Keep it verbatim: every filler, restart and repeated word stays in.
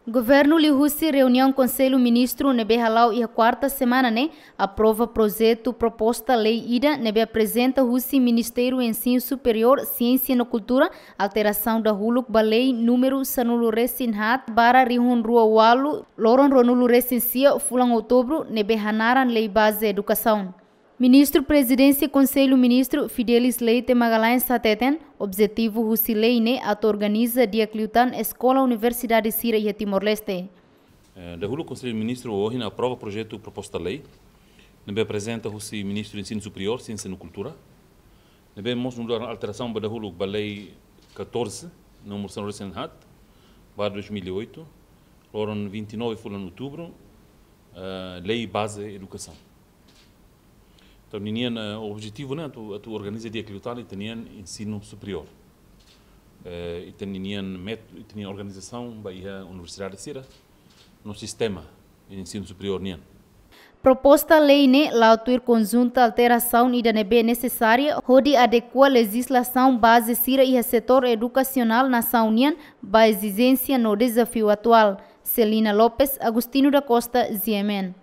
Governu liuhusi reuniaun Konsellu Ministru ne'ebé hala'o iha kuarta semana ne'e aprova projetu proposta lei ida ne'ebé aprezenta husi Ministériu Ensinu Superiór, Siénsia no Kultura alterasaun dahuluk ba lei númeru sanulu resin haat barra rihun rua ualu, loron ruanulu resin sia fulan Outubru, ne'ebé hanaran Lei Baze Edukasaun. Ministru Prezidénsia Konsellu Ministru Fidelis Leite Magalhães hateten, objetivu husi lei ne'e atu organiza di'ak liután eskola universidade sira iha Timor-Leste. Eh, dahuluk Konsellu Ministru ohin aprova projetu proposta lei ne'ebé aprezenta husi Ministru Ensinu Superiór, Siénsia no Kultura, ne'ebé mós nu'udar alterasaun ba dahuluk ba Lei catorze, númeru sanulu resin haat barra dois mil e oito, loron vinte e nove fulan Outubru, eh, Lei Baze Edukasaun. Entaun, ninian, eh, objetivu ne'e atu, atu organiza di'ak liután ita-nian ensinu superiór. Eh, ita-nian met-, ita-nian organizasaun ba iha universidade sira no sistema ensinu superiór nian. Proposta lei ne'e la'o tuir konjunta alterasaun ida ne'ebé nesesária hodi adekua lejizlasaun baze sira iha setór edukasionál nasaun nian ba ezijénsia no dezafiu atuál. Celina Lopes, Agostinho da Costa, G M N.